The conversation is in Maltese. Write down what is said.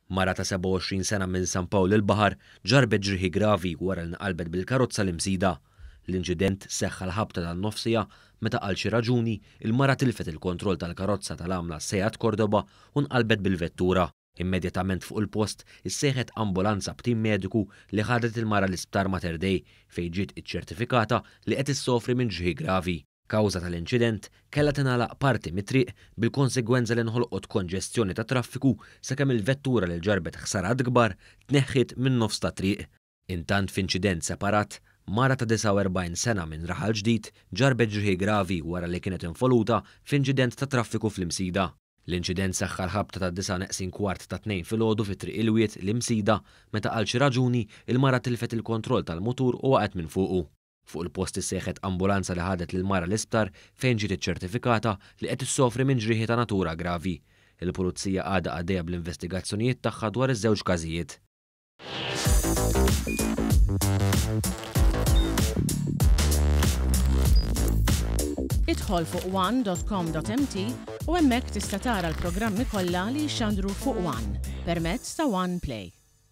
Mara ta' 27 sena minn San Pawl il-Baħar ġarrbet ġrieħi gravi wara li nqalbet bil-karozza l-Imsida. L-inċident seħħ għall-ħabta tan-nofsiegħa meta għal xi raġuni il-mara tilfet il-kontroll tal-karozza tal-għamla Seat Cordoba u nqalbet bil-vettura. Immedjatament fuq il-post issejħet ambulanza b'tim mediku li ħadet il-mara l-Isptar Mater Dei fejn ġiet iċċertifikata li qed issofri minn ġrieħi gravi. Kawża tal-inċident, kellha tingħalaq parti mit-triq bil-konsegwenza li nħolqot konġestjoni tat-traffiku sakemm il-vettura li ġarrbet ħsarat kbar tneħħiet min-nofs tat-triq. Intant f'inċident separat, mara ta' 49 sena minn Raħal Ġdid ġarrbet ġrieħi gravi wara li kienet involuta f'inċident tat-traffiku fl-Imsida. L-inċident seħħ għall-ħabta tad-disgħa neqsin kwart tat-tnejn filgħodu fi Triq il-Wied, l-Imsida, meta għal xi raġuni, il-mara tilfet il-kontroll tal-mutur u waqgħet minn fuqu. Fuq il-post issejħet ambulanza li ħadet lill-mara l-isptar fejn ġiet iċċertifikata li qed issofri minn ġrieħi ta' natura gravi. Il-Pulizija għadha għaddejja bl-investigazzjonijiet tagħha dwar iż-żewġ każijiet. Idħol fuq one.com.mt u hemmhekk tista' tara l-programmi kollha li jixxandru fuq One permezz ta' One Play.